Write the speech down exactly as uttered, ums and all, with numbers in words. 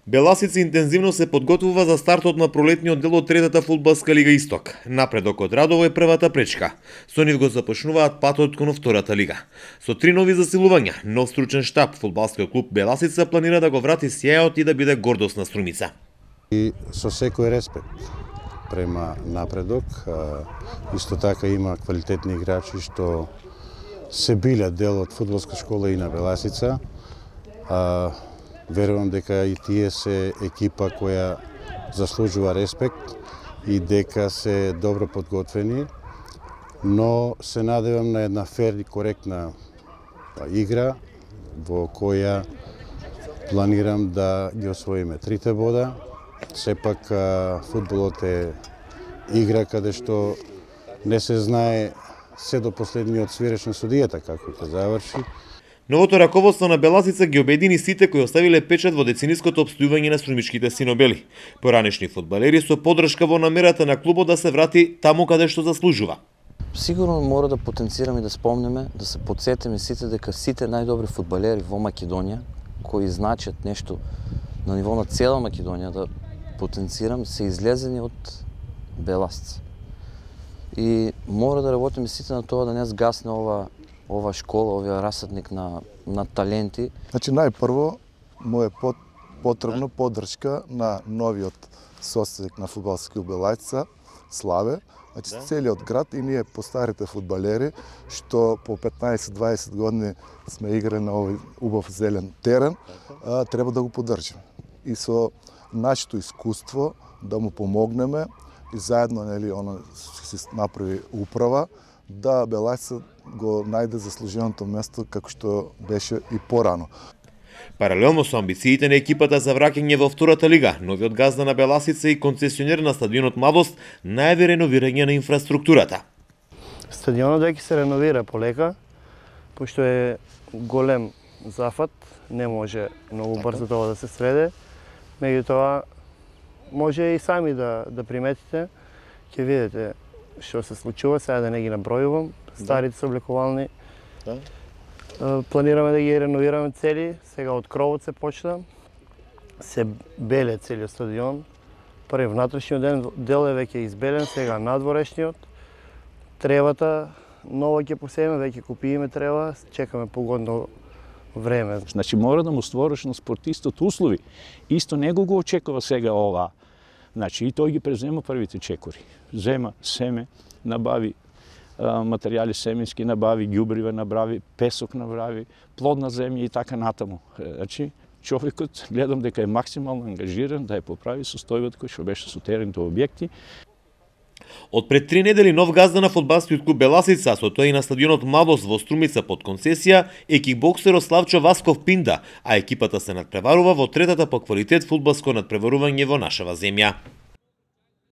Беласица интензивно се подготвува за стартот на пролетниот дел од третата фудбалска лига Исток. Напредокот Радово е првата пречка. Со нив го започнуваат патот кон втората лига. Со три нови засилувања, нов стручен штаб, фудбалскиот клуб Беласица планира да го врати сјајот и да биде гордост на Струмица. И со секој респект према напредок, исто така има квалитетни играчи што се биле дел од фудбалска школа и на Беласица. Верувам дека и тие се екипа која заслужува респект и дека се добро подготвени, но се надевам на една фер и коректна игра во која планирам да ги освоиме трите бода. Сепак фудбалот е игра каде што не се знае се до последниот свиреч на судијата како ќе заврши. Новото раководство на Беласица ги обедини сите кои оставиле печат во децениското обстојување на струмичките синобели. Поранешни фудбалери со поддршка во намерата на клубот да се врати таму каде што заслужува. Сигурно мора да потенцираме и да спомнеме, да се подсетиме сите дека сите најдобри фудбалери во Македонија, кои значат нешто на ниво на цела Македонија, да потенцирам, се излезени од Беласица. И мора да работиме сите на тоа да не сгасне ова ова школа, овој расадник на, на таленти. Значи, најпрво, му е под, потребно поддршка на новиот собственик на фудбалски клуб Беласица, Славе. Значи, да. Целиот град и ние постарите фудбалери, што по петнаесет-дваесет години сме играли на овој убав зелен терен, а, треба да го поддржиме. И со нашето искуство да му помогнеме и заедно, нели, она се направи управа, да Беласица го најде заслуженото место како што беше и порано. Паралелно со амбициите на екипата за враќање во втората лига, новиот газда на Беласица и концесионер на стадионот Младост најави реновирање на инфраструктурата. Стадионот веќе се реновира полека, пошто е голем зафат, не може многу брзо тоа да се сведе. Меѓутоа, може и сами да, да приметите, ќе видите што се случува, сега да не ги набројувам, старите се облекувални. Да. Планираме да ги реновираме цели, сега од кровот се почна, се беле целиот стадион. Први внатрешниот дел е веќе избелен, сега надворешниот. Тревата нова ќе посееме, веќе купиме трева, чекаме погодно време. Значи мора да му створиш на спортистот услови. Исто него го очекува сега ова. Значи и тој ги презема првите чекори. Зема семе, набави а, материјали семенски, набави ѓубриве, набави песок, набави плодна земја и така натаму. Значи човекот гледам дека е максимално ангажиран да ја поправи состојбата кој што беше со терените објекти. Од пред три недели нов газда на фудбалскиот клуб Беласица, со тоа и на стадионот Младост во Струмица под концесија, е кикбоксерот Славчо Васков Пинда, а екипата се надпреварува во третата по квалитет фудбалско надпреварување во нашава земја.